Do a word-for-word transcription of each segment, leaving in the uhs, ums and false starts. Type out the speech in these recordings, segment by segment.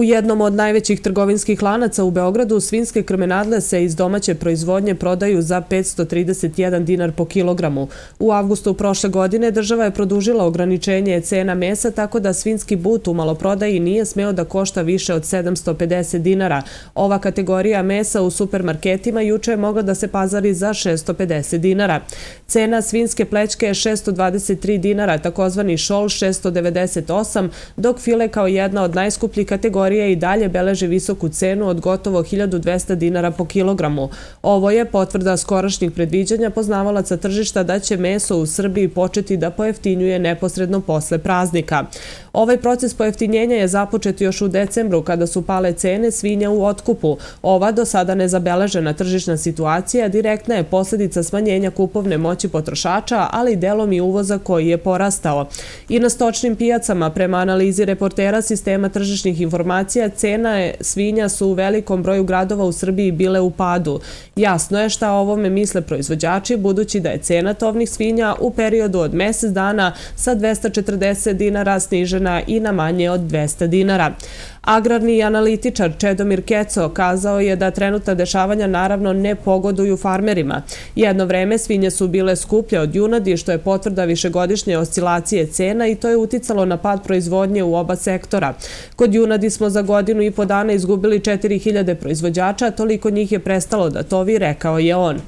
U jednom od najvećih trgovinskih lanaca u Beogradu svinjske krmenadle se iz domaće proizvodnje prodaju za petsto trideset jedan dinar po kilogramu. U avgustu prošle godine država je produžila ograničenje cena mesa tako da svinjski but u maloprodaji nije smeo da košta više od sedamsto pedeset dinara. Ova kategorija mesa u supermarketima juče je mogla da se pazari za šessto pedeset dinara. Cena svinjske plećke je šessto dvadeset tri dinara, takozvani šol šessto devedeset osam, dok file kao jedna od najskupljih kategorija i dalje beleži visoku cenu od gotovo hiljadu dvesta dinara po kilogramu. Ovo je potvrda skorašnjih predviđanja poznavalaca tržišta da će meso u Srbiji početi da pojeftinjuje neposredno posle praznika. Ovaj proces pojeftinjenja je započet još u decembru kada su pale cene svinja u otkupu. Ova do sada nezabeležena tržišna situacija direktna je posljedica smanjenja kupovne moći potrošača, ali delom i uvoza koji je porastao. I na stočnim pijacama, prema analizi reportera sistema tržišnih informacija, cena svinja su u velikom broju gradova u Srbiji bile u padu. Jasno je šta o ovome misle proizvođači, budući da je cena tovnih svinja u periodu od mesec dana sa dvesta četrdeset dinara snižena i na manje od dvesta dinara. Agrarni analitičar Čedomir Keco kazao je da trenutna dešavanja naravno ne pogoduju farmerima. Jedno vreme svinje su bile skuplje od junadi, što je potvrda višegodišnje oscilacije cena i to je uticalo na pad proizvodnje u oba sektora. Kod junadi smo za godinu i po dana izgubili četiri hiljade proizvođača, toliko njih je prestalo da tovi, rekao je on.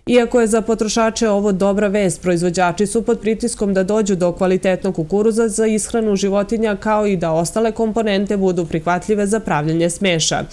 Iako je za potrošače ovo dobra vest, proizvođači su pod pritiskom da dođu do kvalitetnog kukuruza za ishranu životinja kao i da ostale komponente budu prihvatljive za pravljenje smeša.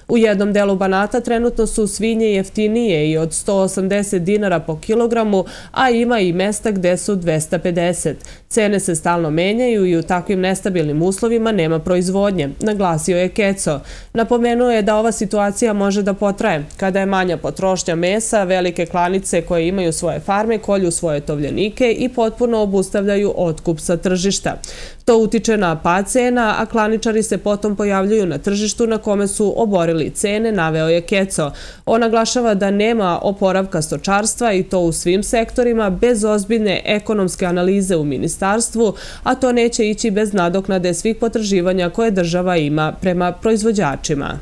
U jednom delu Banata trenutno su svinje jeftinije i od sto osamdeset dinara po kilogramu, a ima i mesta gde su dvesta pedeset. Cene se stalno menjaju i u takvim nestabilnim uslovima nema proizvodnje, naglasio je Keco. Napomenuo je da ova situacija može da potraje. Kada je manja potrošnja mesa, velike klanice koje imaju svoje farme kolju svoje tovljenike i potpuno obustavljaju otkup sa tržišta. To utiče na pad cena, a klaničari se potom pojavljuju na tržištu na kome su oborili cene, naveo je Keco. On naglašava da nema oporavka stočarstva i to u svim sektorima bez ozbiljne ekonomske analize u ministarstvu, a to neće ići bez nadoknade svih potraživanja koje država ima prema proizvođačima.